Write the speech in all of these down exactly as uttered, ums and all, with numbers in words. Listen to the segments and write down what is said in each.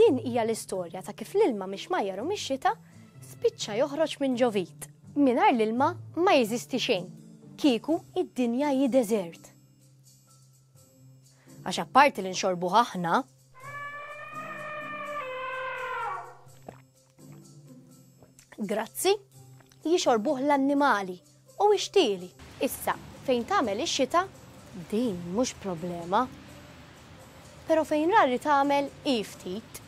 Din hija l-istorja ta' kif l-ilma mix-xmajjar u mix-xita spiċċa joħroġ minn ġo vit. Mingħajr l-ilma ma jeżisti xejn. Kieku id-dinja hi deżert. Għax apparti li nxorbu aħna, grazzi, jixorbuh l-annimali u ixtieli. Issa, fejn tagħmel ix-xita, din mhux problema. Però fejn rari tagħmel hi ftit.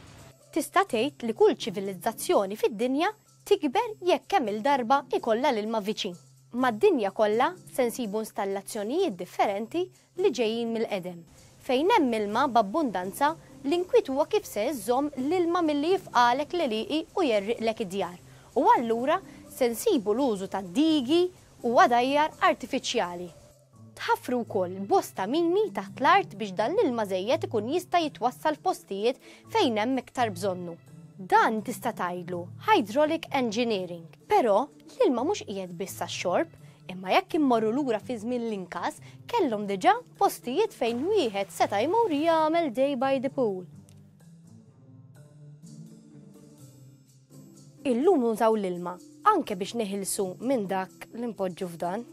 Tista' tgħid li kull ċivilizzazzjoni fid-dinja tikber jekk kemm il-darba ikollha l-ilma viċin. Mad-dinja kollha se nsibu installazzjonijiet differenti li ġejjin mill-qedem. Fejn hemm ilma b'abbundanza, l-inkwiet huwa kif se iżżomm l-ilma milli jifqalek l-għelieqi u jerriqlek id-djar. U allura se nsibu l-użu ta' digi u għadajjar artifiċjali. Tħaffru wkoll bosta mini taħt l-art biex dan l-ilma żejjed ikun jista' jitwassal f'postijiet fejn hemm iktar bżonnu. Dan tista' tgħidlu hydraulic engineering. Però l-ilma mhux qiegħed biss għax-xorb, imma jekk immorru lura fi żmien l-Inkas, kellhom diġà postijiet fejn wieħed seta' jmur jagħmel day by the pool. Illum nużaw l-ilma anke biex neħilsu minn dak li npoġġu f'dan.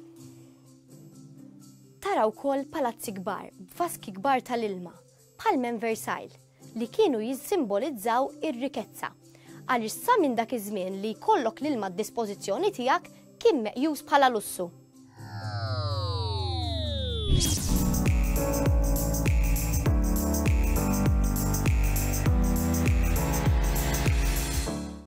Tara wkoll palazzi kbar b'vaski kbar tal-ilma, bħal minn Versailles, li kienu jissimbolizzaw ir-rikezza. Għaliex sa minn dak iż-żmien li jkollok l-ilma d-dispożizzjoni tiegħek kien meqjus bħala lussu.